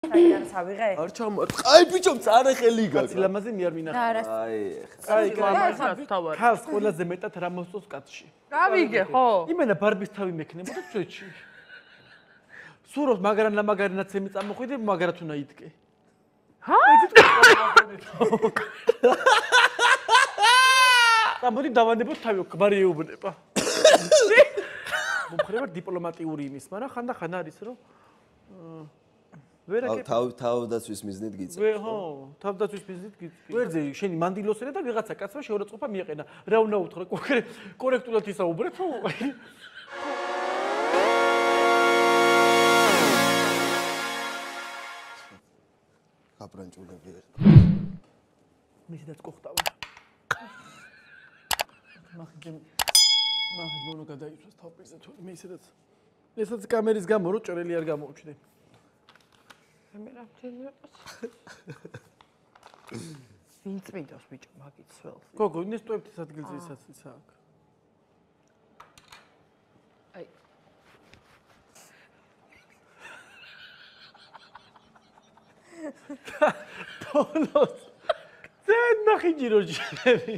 საიდან ავიღე? არ ჩამოატყ. აი ბიჭო, მწარე ხელი გაკ. კაცი ლამაზი მე არ მინახავს. აი, კაცი ქალს ყველაზე მეტად რა მოსწონს კაცში. გავიგე, ხო? იმენა ბარბის თავი მექნებოდა ჩვენში. სუროს მაგრამ ლამაგარინაც ემი წამოხვიდე, მაგრად უნდა იდგე. ჰა? ამოდი დავანებოთ თავი, კვარი ეუბნება. მომხრება დიპლომატიური იმის, მაგრამ ხანდახან არის რომ თავდაცვის მიზნით გიწევს. ხო, თავდაცვის მიზნით გიწევს. ვერძე შენი მანდილოსერა და ვიღაცა კაცმა შეურაცხყოფა მიეყენა. რა უნდა უთხრა კორექტულად ისაუბრეთ, ხო? აბრანჭულები ერთ. მისიდაც ყოხტავა. მაგიმ მონო გადაიწვეს თავპირზე თუ მე ისედაც ესაც კამერის გამო რო ჭრელი არ გამოუჩნდე. მე რა ვთქვი? ვინ წმინდავს ბიჭო მაგით სველს? გოგო, ინესტოებთის ადგილზე ისაც ისა აქ. აი. ბოლოს ძენ ნახი ჯიროჯები.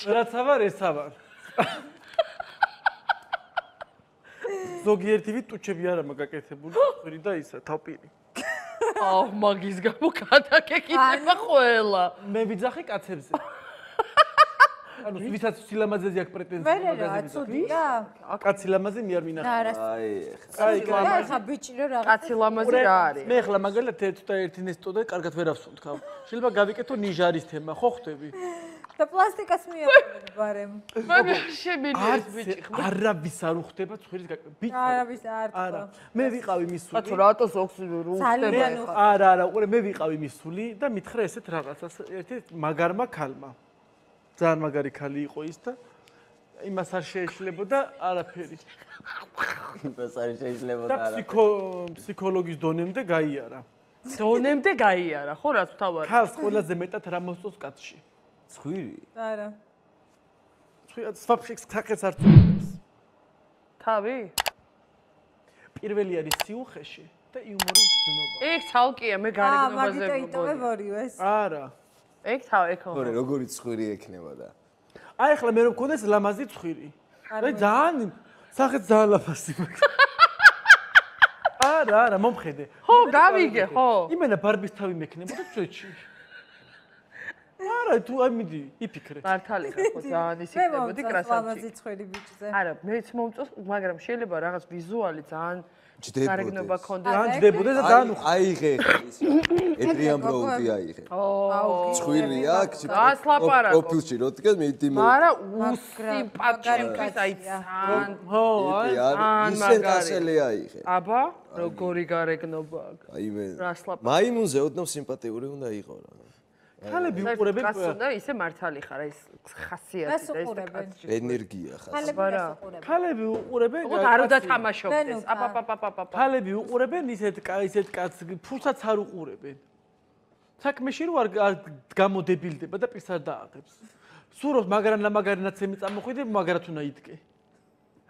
რაც ავარ ეს ავარ. ზოგიერთი ვით ტუჩები არა მაგაკეთებული, ხრი და ისა თავპირი. აუ მაგის გამო გადაგეკითხება ყველა. მე ვიძახე კაცებზე. ანუ ვისაც სილამაზეზე აქვს პრეტენზია მაგაზე. ვერა, ცუდია? კაცი ლამაზი მე არ მინახავს. აი, ხა ბიჭი რა რაღაც. კაცი ლამაზი რა არის? მე ახლა მაგალითად ერთ და ერთი ნესტო და კარგად ვერ ავსუნთქავ. შეიძლება გავიკეთო ნიჟარის თემა, ხო ხვდები? და პლასტიკას მიაყენებ ბარემ. მაგრამ შემინეს ბიჭი. არავის არ უხდება ცხვირის გაკეთება. არავის არ თქვა. არა, მე ვიყავი მის სული. კაცო რატოს ოქსიდური უხდება? არა, ყურე მე ვიყავი მის სული და მითხრა ესეთ რაღაცას ერთი მაგარმა ქალმა. ძალიან მაგარი ქალი იყო ის და იმას არ შეეშლებოდა არაფერი. იმას არ შეეშლებოდა და ფსიქოლოგის დონემდე გაიარა. დონემდე გაიარა, ხო რაც ვთავარი? ქალს ყველაზე მეტად რა მოსწონს კაცში? ცხვირი? არა. ცხვირად სვაფშიქს ხახეს არ წუნებს. თავი? პირველი არის სიუხეში და იუმორის გზნობა. ეგ ცალკეა, მე გარეგნობაზე მაგით იტოვებ ორივეს. არა. ეგ თავი, ეგ ხო. ორი როგორი ცხვირი ექნებოდა? აი ახლა მე რომ მქონდეს ლამაზი ცხვირი. და ძალიან სახეთ ძალიან ლაფასი მაქვს. არა, მომხედე. ხო, გავიგე, ხო. იმენა ბარბის თავი მექნებოდა ჩვენში. არა, თუ აი მიდი, იფიქრე. მართალი ხარ ხო, ძალიან ისიქნებოდი კრასავჭი. ლამაზი ცხვირი ბიჭზე. არა, მეც მომწონს, მაგრამ შეიძლება რაღაც ვიზუალი ძალიან გარეგნობა ქონდეს. ძალიან ჯდებოდეს და ძალიან უხ. აიღე ის. ეტრიან ბროუდი აიღე. ცხვირი აქ, პროფილში რო დგას მიდი მო. არა, უსიმპათიური აი ძალიან. ხო, აი. ისე კასელი აიღე. აბა, როგორი გარეგნობა აქვს. აი მე. რას ლაპარაკობ? მაიმუნზე ოდნავ სიმპათიური უნდა იყო რა. ქალები უყურებენ და ისე მართალი ხარ ეს ხასიათი და ეს კაცი. ენერგია ხარ. ქალები უყურებენ არ უნდა თამაშობდეს. აპაპაპაპაპ. ქალები უყურებენ ისეთ კაცს, ფულსაც არ უყურებენ. საქმეში რო არ გამოდებილდება და პირს არ დააღებს. სუროს მაგრამ ლამაგარინაც ემი წამოხვიდე, მაგრად უნდა იდგე.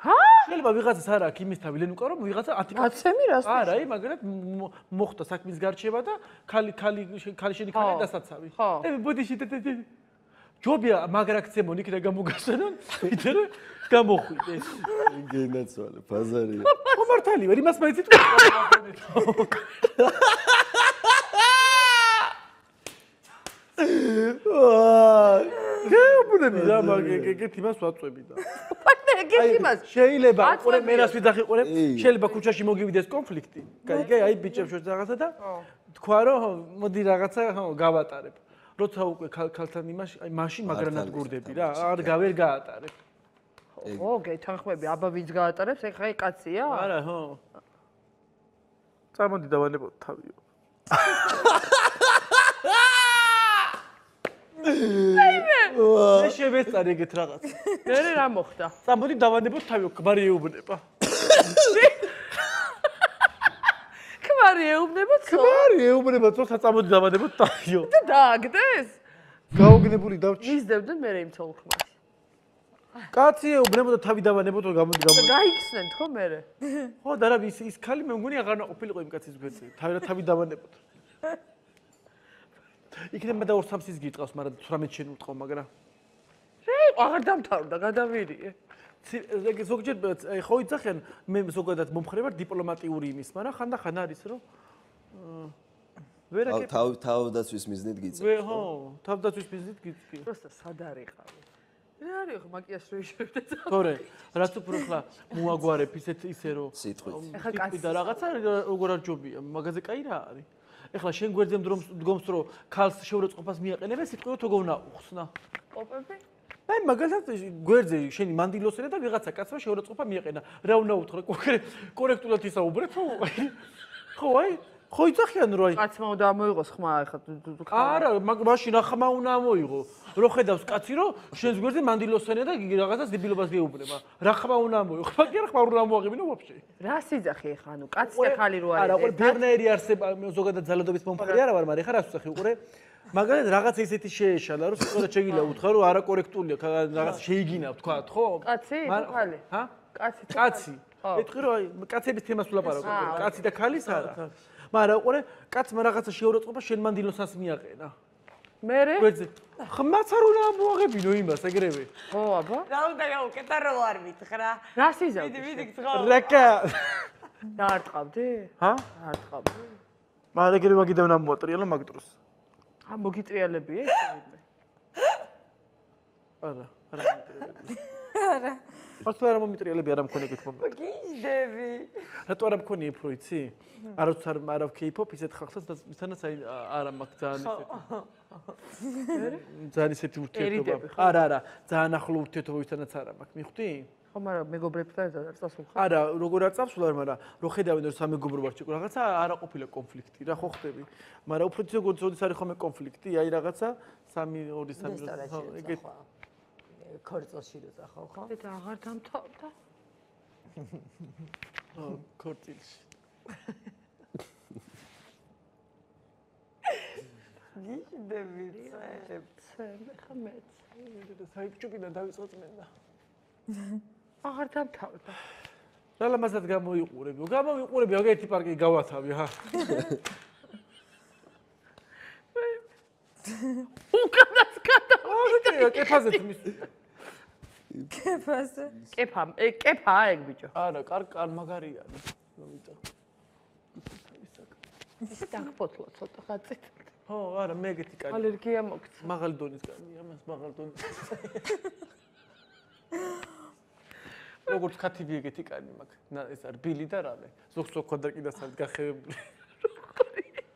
ჰა? შეიძლება ვიღაცას არ აქვს იმის თავი, ლენ უკარო ვიღაცა 10 კაცემი რას? არა, აი მაგრად მოხდა საქმის გარჩევა და ქალი შენი ქალი დასაცავი. ბოდიში ჯობია მაგრაქცემონ იქ და გამოგასვენონ, ვიდრე გამოხვიდე. გენაცვალე, ბაზარია. მომართალი ვარ, იმას მაინც იტყვი. გეუბნები რა მაგეკეთ იმას ვაწვევი და. შეიძლება ყურე მე რას ვიძახი ყურე შეიძლება ქუჩაში მოგივიდეს კონფლიქტი. კაი, აი ბიჭებს შორის რაღაცა და თქვა რომ მოდი რაღაცა გავატარებ. როცა უკვე ქალთან იმაში აი მაშინ მაგრანად გურდები რა არ გავერ გაატარებ. ო, გეთანხმები, აბა ვინც გაატარებს, ეხა აი კაცია? არა, ხო. წამოდი დავანებოთ თავიო. მე შევეწარე ეგეთ რაღაც. მე რა მოხდა? წამოდი დავანებოთ თავიო, კვარი ეუბნება. კვარი ეუბნება? კვარი ეუბნება, თორსა წამოდი დავანებოთ თავიო. და დააგდეს? გაუგნებული დავჭი. მისდევდნენ მე იმ თოლხმას. კაცი ეუბნებოდა თავი დავანებოთ რომ გამოდი. გაიქცნენ თქო მერე. ხო და რა ის ქალი მე მგონი აღარ ნაყოფილიყო იმ კაცის გვერდზე. თავი დავანებოთ. იქნება და 2-3 ის გიტყავს, მაგრამ 18 შენ უტყო, მაგრამ აღარ დამთავრდა, გადავირიე. ზოგჯერ ხო იცახიან მე ზოგადად მომხრე ვარ დიპლომატიური იმის, მაგრამ ხანდახან არის რომ ვერაკეთე თავდაცვის მიზნით გიწევს. ხო, თავდაცვის მიზნით გიწევს. просто სად არიყავი. რა არის ხო მაკიაჟ რო იშევდე. თორე, რაც უფრო ხლა მოაგვარებ ისე რომ სიტყვით. ეხლა კაცი და რაღაცა როგორ არ ჯობია, მაგაზე კაი რა არის. ეხლა შენ გვერდზე დგომს რომ ქალს შეურაცხყოფას მიაყენებენ, სიტყვით თოგონა უხსნა. პოპები? აი მაგალითად გვერდზე შენი მანდილოსერა და ვიღაცა კაცმა შეურაცხყოფა მიაყენა. რა უნდა უთხრა კორექტულად ისაუბრეთ ხო? ხო აი ხო იცახიან რომ აი კაცმა უნდა ამოიღოს ხმა ეხლა. არა, მაშინ რა ხმა უნდა ამოიღო? რო ხედავს კაცი რომ შენს გვერდზე მანდილოსერა და რაღაცას დებილობას გეუბნება. რა ხმა უნდა ამოიღო? მაგ არა ხმა უნდა ამოაღებინო ვაფშე. რა სიძახი ეხლა ანუ კაცი და ხალი რო არის. არა, ყო ბერნერი არსება ზოგადად ზალადობის მომხრე არა ვარ, მაგრამ ეხლა რას ვსახი უყურე? მაგალითად რაღაც ისეთი შეეშალა რომ სიტყვა შეგიძლია უთხრა რომ არაკორექტულია რაღაც შეიგინა თქვა ხო? კაცი თუ ხალი? ჰა? კაცი. ეთქვი რომ აი კაცების თემას ვლაპარაკობ. კაცი და ქალის არა. მაგრამ უყურე კაცმა რაღაცა შეურაცხყოფა შენ მანდილოსას მიაყენა. მერე? გვერდზე. ხმაც არ უნდა ამოაღებინო იმას ეგრევე. ხო აბა? რა უნდა გავუკეთო რო არ მითხრა. რა სიზავდი? მიდი გძღო. რაკა. და არ ტყავდი? ჰა? არ ტყავდი. მაგრამ ეგრევე მაგიდან უნდა მოატრიალო მაგ დროს. მოგიტრიალებია ეს? არა, არა მომიტრიალები. არა. მართლა არ მომიტრიალები არ მქონი ეგეთ მომენტი. გიჟდები. რატო არ მქონი უფრო იცი? არც არ ვქეიფობ ისეთ ხალხსაც მისთანაც აი არა მაქვს ძალიან ისეთი. ძალიან ისეთი ურთიერთობა. არა, ძალიან ახლო ურთიერთობა ვისთანაც არა მაქვს. მიხვდი? ხო, მაგრამ მეგობრებთან არ წასულხარ. არა, როგორ არ წავსულარ, მაგრამ რო ხედავენ რომ სამეგობრო ვარ ჩიკო, რაღაცა არა ყოფილა კონფლიქტი, რა ხო ხდები? მაგრამ უფრო ცოტა ზოდის არის ხოლმე კონფლიქტი, აი რაღაცა 3-2-3 ხო, ეგეთ ქორწილში როცა ხო, ხო? და აღარ დამთავრდა. ხო, ქორწილში. გიჟდები ცე, ხა მეც. საიტჭუკიდან დავიწყო წმენდა. აღარ დამთავრდა. რა ლამაზად გამოიყურებიო. გამოვიყურები, აგეთი პარკი გავათავი, ჰა. უკანას გადავიდა. კეფაზე თმის. კეფაზე. კეფაა ეგ ბიჭო. არა, კარ მაგარია. მომიწა. დაგფოთლო ცოტა ხაცით. ხო, არა, მე ეგეთი კარი. ალერგია მოგცა. მაღალი დონის კარი, ამას მაღალი დონის. როგორც ქათიბი ეგეთი კარი მაქვს. ეს არის ბილი და რამე. ზოგს ოქონდაკიდას არის გახევებული.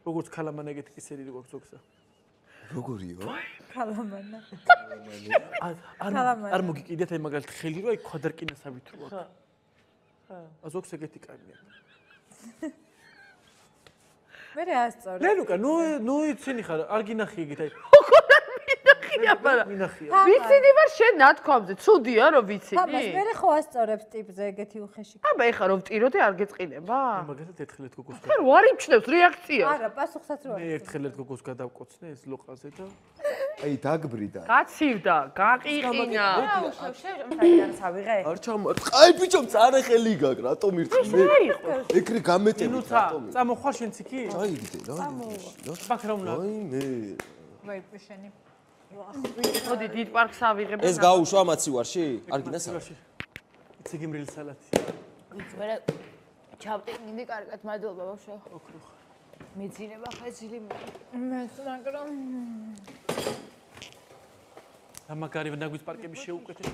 როგორც ქალამან ეგეთი კისერი როგორც ზოგსა. როგორიო? ქალამანა. არ მოგიკიდეთ აი მაგალითად ხელი რო აი კვადრკინასავით რო აქვს. ხა. ზოგს ეგეთი კარი აქვს. მე რა ასწორე. ლელუკა, ნუ იცინი ხარ, არ გინახი ეგეთ აი. მინახია, მაგრამ მინახია. ვიცინი ვარ შენ ნათქვამზე, ცუდია რომ ვიცინი. თამას მე ხო ასწორებს ტიპზე ეგეთი უხეში. აბა ეხა რომ ვტიროდე არ გეწყინება? მაგალითად ერთხელეთ გოგოს ხარ ვარ იმჩნევს რეაქცია. არა, პასუხსაც რო მე ერთხელეთ გოგოს გადავკოცნე ეს ლოყაზე და აი დაგბრიდა. გაცივდა, გაყიყინა. რა უშევშე, საიდან ავიღე? არ ჩამოარტყა. აი ბიჭო, მწარე ხელი გაქვს, რატომ ირწმე? რა იყო? ეგრე გამეტები ნუცა, წამოხვალ შენც იქი? აიგდე რა. ბაქრაუნა. აი მე. ვაი შენი. მოდი დიდ პარკს ავიღებ. ეს გაუშვა მაცივარში? არ გინდა სალათი. იცი გიმრილი სალათი. მე ჩავტენინდი კარგად, მადლობა ბავშვო. მეძინება ხეცილი მეც მაგრამ და მაგარი ნაგვის პარკების შეუკეთეს.